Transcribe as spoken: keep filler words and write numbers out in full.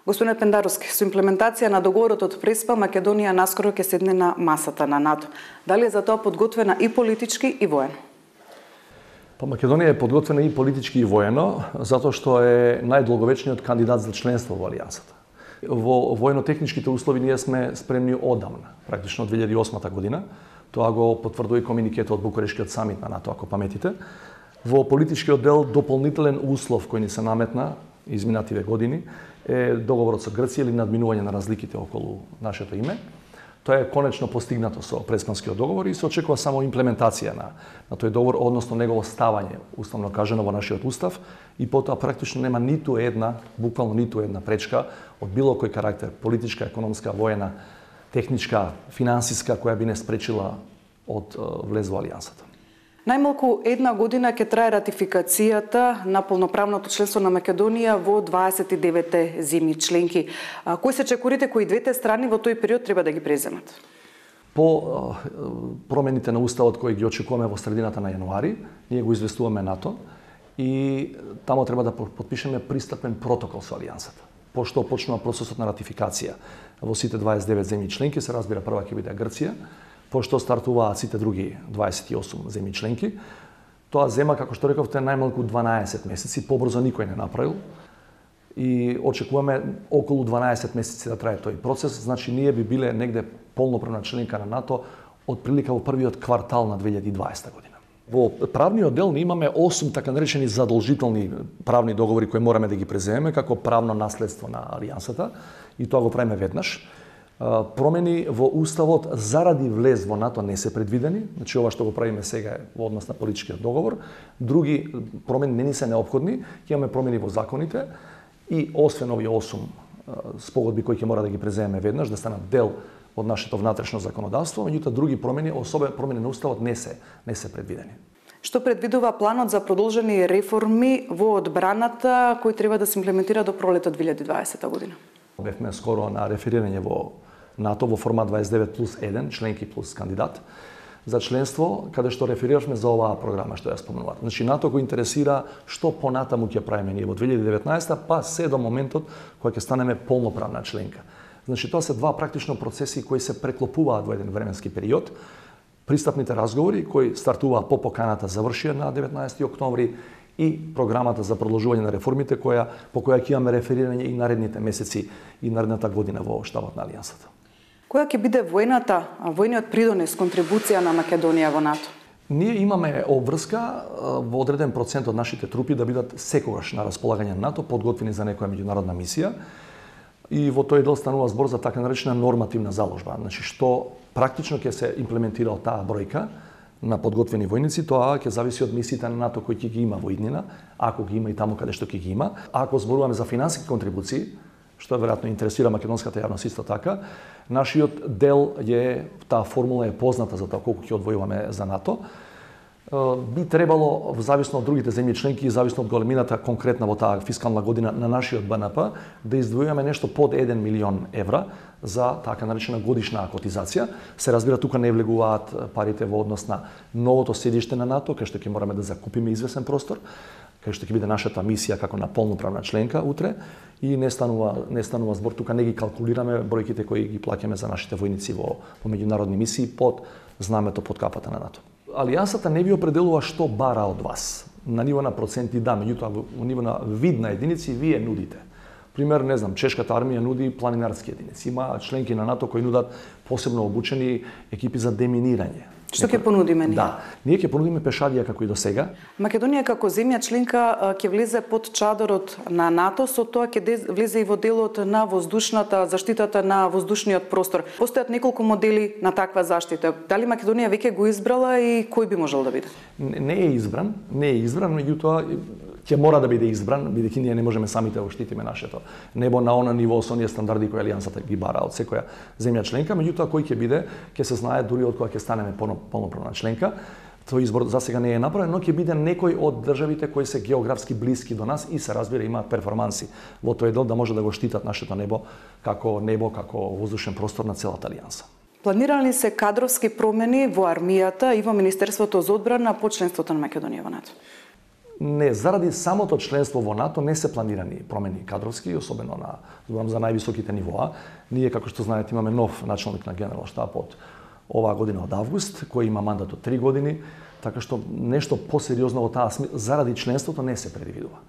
Господин Пендаровски, со имплементација на договорот од Преспа, Македонија наскоро ќе седне на масата на НАТО. Дали е за тоа подготвена и политички и воено? Па Македонија е подготвена и политички и воено, затоа што е најдолговечниот кандидат за членство во Алијансата. Во воено-техничките услови ние сме спремни одамна, практично од две илјади и осма година. Тоа го потврдува и комуникето од Букурешкиот самит на НАТО, ако паметите. Во политичкиот дел дополнителен услов кој ни се наметна изминативе години е договорот со Грција или надминување на разликите околу нашето име. Тоа е конечно постигнато со Преспанскиот договор и се очекува само имплементација на, на тој договор, односно негово ставање, уставно кажано во нашиот устав, и потоа практично нема ниту една, буквално ниту една пречка од било кој карактер, политичка, економска, воена, техничка, финансиска, која би не спречила од влез во Алијансата. Најмалку една година ќе трае ратификацијата на полноправното членство на Македонија во дваесет и деветте земји членки. Кои се чекорите кои двете страни во тој период треба да ги преземат? По промените на уставот кои ги очекуваме во средината на јануари, ние го известуваме НАТО и тамо треба да потпишеме пристапен протокол со Алијансата. Пошто почнува процесот на ратификација во сите дваесет и девет земји членки, се разбира прва ќе биде Грција. Пошто стартуваат сите други дваесет и осум земји членки, тоа зема, како што рековте, најмалку дванаесет месеци, побрзо никој не направил. И очекуваме околу дванаесет месеци да трае тој процес, значи ние би биле негде полноправна членка на НАТО од прилика во првиот квартал на две илјади и дваесета година. Во правниот дел ние имаме осум така наречени задолжителни правни договори кои мораме да ги преземеме како правно наследство на Алијансата, и тоа го правиме веднаш. Промени во уставот заради влез во НАТО не се предвидени, значи ова што го правиме сега е во однос на политичкиот договор. Други промени не ни се неопходни, ќе имаме промени во законите и освен овие осум спогодби кои ќе мора да ги преземеме веднаш, да станат дел од нашето внатрешно законодавство, меѓутоа други промени, особено промени на уставот не се не се предвидени. Што предвидува планот за продолжени реформи во одбраната кои треба да се имплементира до пролетот две илјади и дваесета година? Бевме скоро на реферирање во НАТО во формат дваесет и девет плюс еден, членки плюс кандидат за членство, каде што реферирашме за оваа програма што ја спомнував. Значи НАТО го интересира што понатаму ќе правиме ние во две илјади и деветнаесета, па се до моментот кога ќе станеме полноправна членка. Значи тоа се два практично процеси кои се преклопуваат во еден временски период. Пристапните разговори кои стартуваа по поканата завршија на деветнаесети октомври и програмата за продолжување на реформите која по која ќе имаме реферирање и наредните месеци и наредната година во штабот на Алијансата. Која ќе биде војната, војниот придонес, контрибуција на Македонија во НАТО? Ние имаме обврска во одреден процент од нашите трупи да бидат секогаш на располагање на НАТО, подготвени за некоја меѓународна мисија. И во тој дел станува збор за така наречена нормативна заложба. Значи што практично ќе се имплементира од таа бројка на подготвени војници, тоа ќе зависи од мисиите на НАТО кои ќе ги има во иднина, ако ги има и таму каде што ќе ги има. Ако зборуваме за финансиски контрибуции, што веројатно интересира македонската јавност исто така, нашиот дел е, таа формула е позната за тоа колку ќе одвојуваме за НАТО. Би требало, в зависно од другите земји членки и зависно од големината конкретна во таа фискална година на нашиот Б Н П, да издвојуваме нешто под еден милион евра за така наречена годишна котизација. Се разбира, тука не влегуваат парите во однос на новото седиште на НАТО, кај што ќе мораме да закупиме извесен простор, кај што ќе биде нашата мисија како на полноправна членка утре, и не станува не станува збор, тука не ги калкулираме бројките кои ги плаќаме за нашите војници во, во меѓународни мисии под знамето, под капата на НАТО. Алијансата не ви определува што бара од вас. На ниво на проценти да, меѓутоа во ниво на вид на единици вие нудите. Пример, не знам, чешката армија нуди планинарски единици. Има членки на НАТО кои нудат посебно обучени екипи за деминирање. Што ќе понудиме ние? Да, ние ќе понудиме пешадија како и до сега. Македонија како земја членка ќе влезе под чадорот на НАТО, со тоа ќе влезе и во делот на воздушната заштитата на воздушниот простор. Постојат неколку модели на таква заштита. Дали Македонија веќе го избрала и кој би можел да биде? Не е избран, не е избран, меѓутоа ќе мора да биде избран, бидејќи ние не можеме самите да штитиме нашето небо на она ниво со оние стандарди кои Алијансата ги бара од секоја земја членка, меѓутоа кој ќе биде, ќе се знае дури од кога ќе станеме полноправна членка. Тој избор за сега не е направен, но ќе биде некој од државите кои се географски блиски до нас и се разбира имаат перформанси во тој дел да може да го штитат нашето небо како небо, како воздушен простор на целата Алијанса. Планирани се кадровски промени во армијата и во Министерството за одбрана по членството на Македонија во НАТО? Не, заради самото членство во НАТО не се планирани промени кадровски, особено на зборам за највисоките нивоа. Ние, како што знаете, имаме нов началник на генерал штаб од оваа година од август, кој има мандат од три години, така што нешто посериозно во таа заради членството не се предвидува.